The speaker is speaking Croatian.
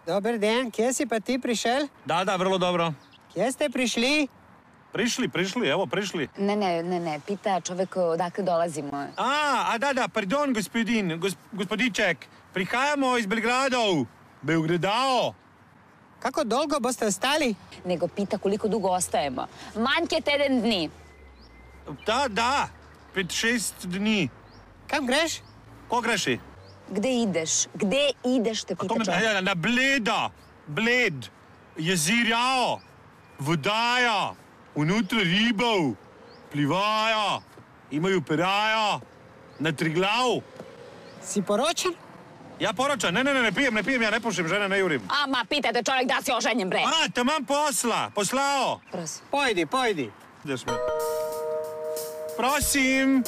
Dober dan, kje si pa ti prišel? Da, vrlo dobro. Kje ste prišli? Prišli. Ne, pita čovek odakle dolazimo. Da, pardon, gospodiček. Prihajamo iz Belgradao. Kako dolgo boste ostali? Nego pita koliko dugo ostajemo. Manjke teden dni. Da, 5-6 dni. Kam greš? Ko greši? Gde ideš, te pita čovek. Na Bled, jezirjao, vodaja, unutra ribov, plivaja, imajo peraja, na Triglav. Si poročen? Ja poročan, ne pijem, ja ne pušim, žene ne jurim. Ma, pitajte čovek da si oženjen, bre. Tamam poslao. Prosim. Pojdi. Ideš me. Prosim.